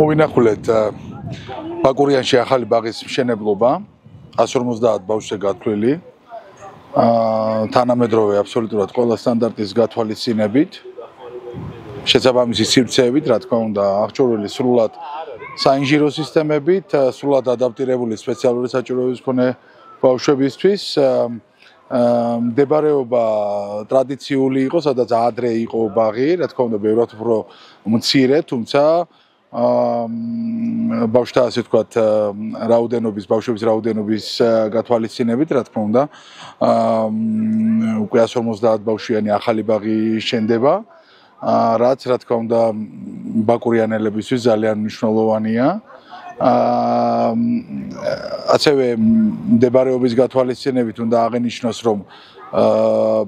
მოვინახულეთ ბაკურიანში ახალი ბაღის მშენებლობა 150 ბავშვზე გათვლილი თანამედროვე აბსოლუტურად ყველა სტანდარტის გათვალისწინებით შესაბამისი სივრცეებით, რა თქმა უნდა, აღჭურვილი სრულად საინჟინრო სისტემებით, სრულად ადაპტირებული სპეციალური საჭიროების მქონე ბავშვებისთვის მდებარეობა ტრადიციული იყო, სადაც ადრე იყო ბაღი, რა თქმა უნდა, ბევრად უფრო მცირე, თუმცა ბავშვთა ასე ვთქვათ რაოდენობის, ბავშვების რაოდენობის გათვალისწინებით, რა თქმა უნდა, უკვე 150 ბავშვიანი ახალი ბაღი შენდება, რაც რა თქმა უნდა ბაკურიანელებისთვის ძალიან მნიშვნელოვანია. ასევე მდებარეობის გათვალისწინებით უნდა აღინიშნოს, რომ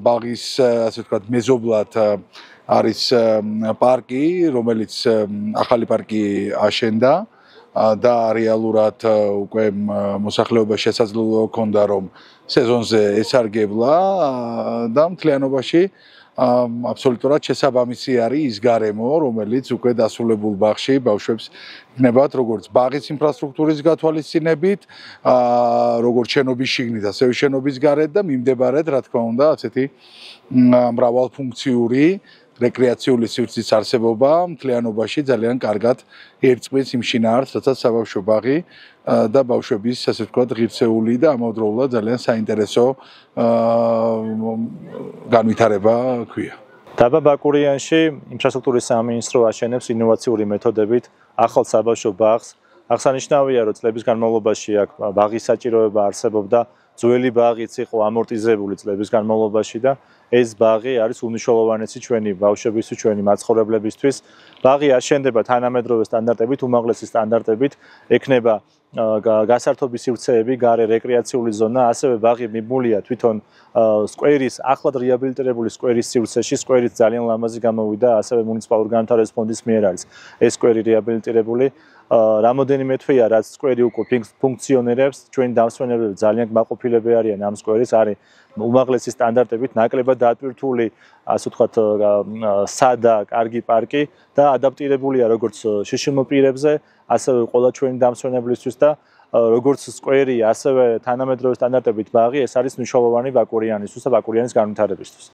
ბაღის ასე ვთქვათ მეზობლად არის პარკი, რომელიც ახალი პარკი აშენდა და რეალურად უკვე მოსახლეობას შესაძლებლობა ჰქონდა, რომ სეზონზე ესარგებლა და მთლიანობაში აბსოლუტურად შესაბამისი არის ის გარემო, რომელიც უკვე დასრულებულ ბაღში ბავშვებს იქნებათ როგორც ბაღის ინფრასტრუქტურის გათვალისწინებით, როგორც შენობის შიგნით, ასევე შენობის გარეთ და მიმდებარედ, რა თქმა უნდა, ასეთი მრავალფუნქციური რეკრეაციული სივრცის არსებობა მთლიანობაში ძალიან კარგად ერწყმის იმ შინაარსს, რასაც საბავშვო ბაღი და ბავშვების, ასე ვთქვათ, ღირსეული და ამავდროულად ძალიან საინტერესო განვითარება ჰქვია. დაბა ბაკურიანში ინფრასტრუქტურის სამინისტრო აშენებს ინოვაციური მეთოდებით ახალ საბავშვო ბაღს. აღსანიშნავია, რომ წლების განმავლობაში აქ ბაღის საჭიროება არსებობდა, ძველი ბაღიც იყო ამორტიზებული წლების განმავლობაში და ეს ბაღი არის უმნიშვნელოვანესი ჩვენი ბავშვებისთვის, ჩვენი მაცხოვრებლებისთვის. ბაღი აშენდება თანამედროვე სტანდარტებით, უმაღლესი სტანდარტებით, ექნება გასართობი სივრცეები, გარე რეკრეაციული ზონა, ასევე ბაღი მიბმულია თვითონ სკვერის, ახლად რეაბილიტირებული სკვერის სივრცეში. სკვერიც ძალიან ლამაზი გამოვიდა, ასევე მუნიციპალური განვითარების ფონდის მიერ არის ეს სკვერი რეაბილიტირებული. რამოდენიმე თვეა, რაც სკვერი უკვე ფუნქციონირებს, ჩვენი დამსვენებლები ძალიან კმაყოფილები არიან ამ სკვერის, არის უმაღლესი სტანდარტებით ნაკლებად დატვირთული, ასე ვთქვათ, სადა, კარგი პარკი და ადაპტირებულია როგორც შიშიმო პირებზე, ასევე ყველა ჩვენი დამსვენებლისთვის და როგორც სკვერი, ასევე თანამედროვე სტანდარტებით ბაღი, ეს არის მნიშვნელოვანი ბაკურიანისთვის და ბაკურიანის განვითარებისთვის.